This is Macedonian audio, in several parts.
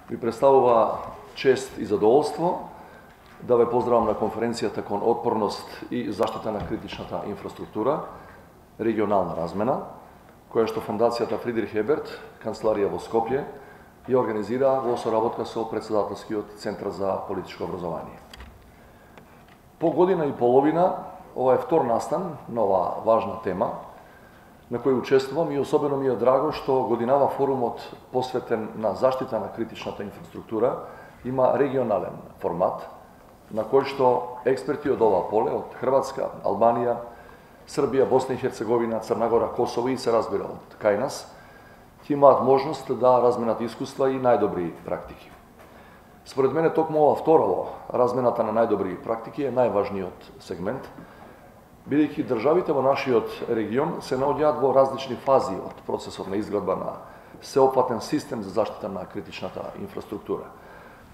Ми представува чест и задоволство да ве поздравам на конференцијата кон отпорност и заштита на критичната инфраструктура, регионална размена, која што Фондацијата Фридрих Еберт, канцеларија во Скопје, ја организира во соработка со Председателскиот центар за политичко образование. По година и половина, ова е втор настан на оваа важна тема, на кој учествувам и особено ми е драго што годинава форумот посветен на заштита на критичната инфраструктура има регионален формат, на кој што експерти од ова поле, од Хрватска, Албанија, Србија, Босна и Херцеговина, Црна Гора, Косово и се разбира од кај нас, ќе имаат можност да разменат искуства и најдобри практики. Според мене токму ова второво, размената на најдобри практики е најважниот сегмент, бидејќи државите во нашиот регион се наоѓаат во различни фази од процесот на изградба на сеопфатен систем за заштита на критичната инфраструктура.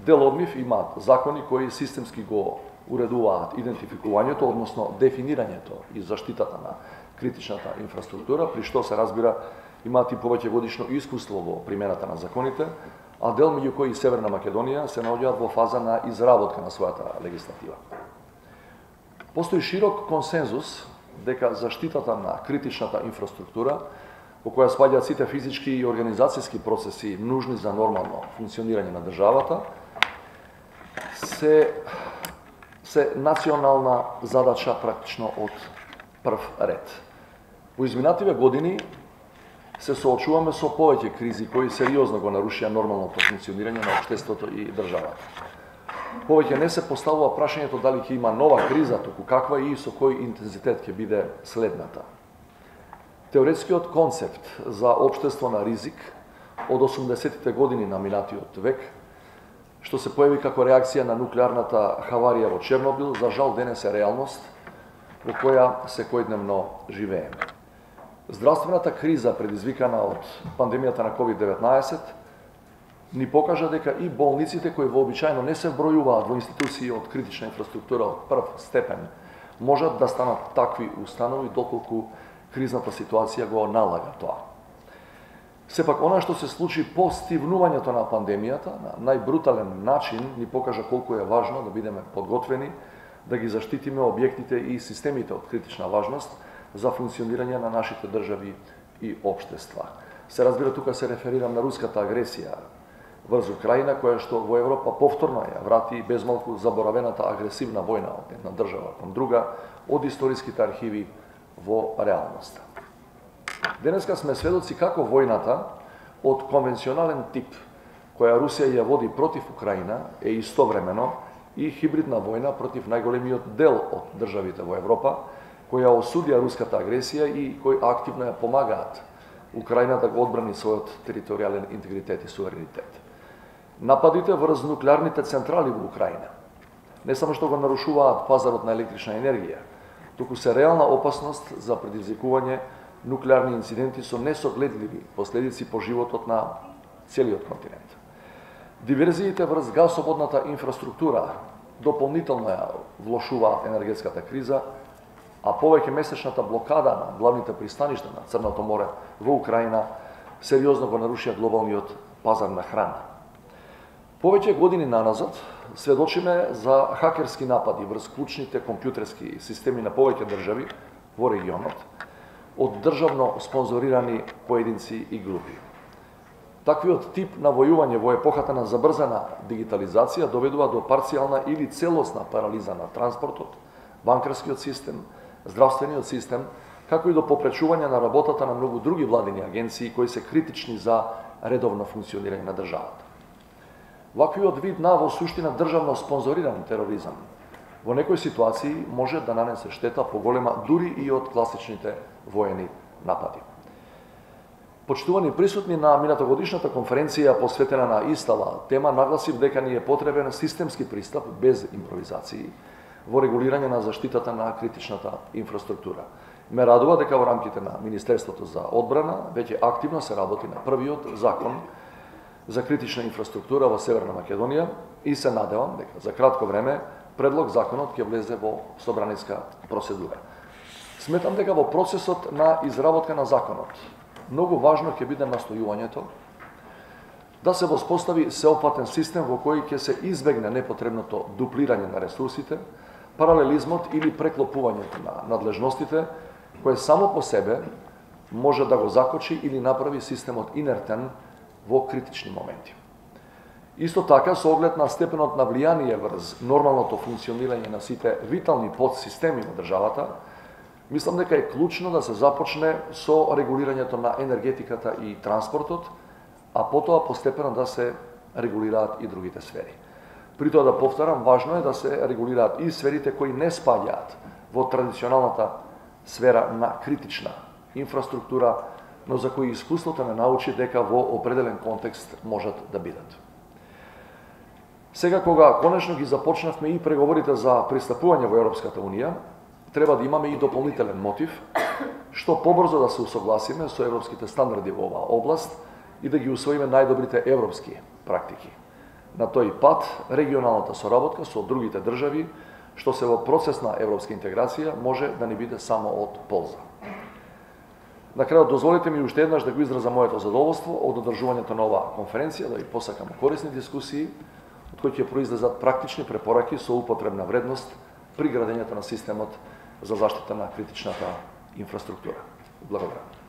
Дел од нив имаат закони кои системски го уредуваат идентификувањето, односно дефинирањето и заштитата на критичната инфраструктура, при што се разбира имаат и повеќе годишно искуство во примената на законите, а дел меѓу кои Северна Македонија се наоѓаат во фаза на изработка на својата легислатива. Постои широк консензус дека заштитата на критичната инфраструктура, во која спаѓаат сите физички и организацијски процеси нужни за нормално функционирање на државата, се национална задача практично од прв ред. Во изминативе години се соочуваме со повеќе кризи кои сериозно го нарушија нормалното функционирање на општеството и државата. Повеќе не се поставува прашањето дали ќе има нова криза, туку каква и со кој интензитет ќе биде следната. Теоретскиот концепт за општество на ризик од 80-тите години на минатиот век, што се појави како реакција на нуклеарната хаварија во Чернобил, за жал денес е реалност во која секојдневно живееме. Здравствената криза предизвикана од пандемијата на COVID-19 ни покажа дека и болниците кои вообичаено не се вбројуваат во институции од критична инфраструктура од прв степен, можат да станат такви установи доколку кризната ситуација го налага тоа. Сепак, она што се случи по стивнувањето на пандемијата, на најбрутален начин ни покажа колку е важно да бидеме подготвени, да ги заштитиме објектите и системите од критична важност за функционирање на нашите држави и општества. Се разбира, тука се реферирам на руската агресија врз Украина, која што во Европа повторно ја врати безмалку заборавената агресивна војна од една држава кон друга, од историските архиви во реалноста. Денеска сме сведоци како војната од конвенционален тип, која Русија ја води против Украина, е истовремено и хибридна војна против најголемиот дел од државите во Европа, која осудија руската агресија и кои активно ја помагаат Украина да го одбрани својот територијален интегритет и суверенитет. Нападите врз нуклеарните централи во Украина не само што го нарушуваат пазарот на електрична енергија, туку се реална опасност за предизвикување нуклеарни инциденти со несогледливи последици по животот на целиот континент. Диверзиите врз гасоводната инфраструктура дополнително ја влошуваат енергетската криза, а повеќе месечната блокада на главните пристаништа на Црното море во Украина сериозно го нарушија глобалниот пазар на храна. Повеќе години наназад сведочиме за хакерски напади врз клучните компјутерски системи на повеќе држави во регионот од државно спонзорирани поединци и групи. Таквиот тип на војување во епохата на забрзана дигитализација доведува до парцијална или целосна парализа на транспортот, банкарскиот систем, здравствениот систем, како и до попречување на работата на многу други владини агенции кои се критични за редовно функционирање на државата. Ваквиот вид на во суштина државно спонзориран тероризам во некои ситуации може да нанесе штета поголема дури и од класичните воени напади. Почитувани присутни на минатогодишната конференција посветена на истава тема, нагласив дека ни е потребен системски пристап без импровизации во регулирање на заштитата на критичната инфраструктура. Ме радува дека во рамките на Министерството за одбрана веќе активно се работи на првиот закон за критична инфраструктура во Северна Македонија и се надевам дека за кратко време предлог законот ќе влезе во собраниска процедура. Сметам дека во процесот на изработка на законот многу важно ќе биде настојувањето да се воспостави сеопфатен систем во кој ќе се избегне непотребното дуплирање на ресурсите, паралелизмот или преклопувањето на надлежностите, кое само по себе може да го закочи или направи системот инертен во критични моменти. Исто така, со оглед на степенот на влијание врз нормалното функционирање на сите витални подсистеми во државата, мислам дека е клучно да се започне со регулирањето на енергетиката и транспортот, а потоа постепено да се регулираат и другите сфери. При тоа да повторам, важно е да се регулираат и сферите кои не спаѓаат во традиционалната сфера на критична инфраструктура, но за кои искуството не научи дека во определен контекст можат да бидат. Сега, кога конечно ги започнавме и преговорите за пристапување во Европската Унија, треба да имаме и дополнителен мотив, што побрзо да се усогласиме со европските стандарди во оваа област и да ги усвоиме најдобрите европски практики. На тој пат, регионалната соработка со другите држави, што се во процес на европска интеграција, може да ни биде само од полза. На крајот, дозволите ми уште еднаш да го изразам моето задоволство од одржувањето на оваа конференција, да ви посакам корисни дискусии, од кои ќе произлезат практични препораки со употребна вредност при градењето на системот за заштита на критичната инфраструктура. Благодарам.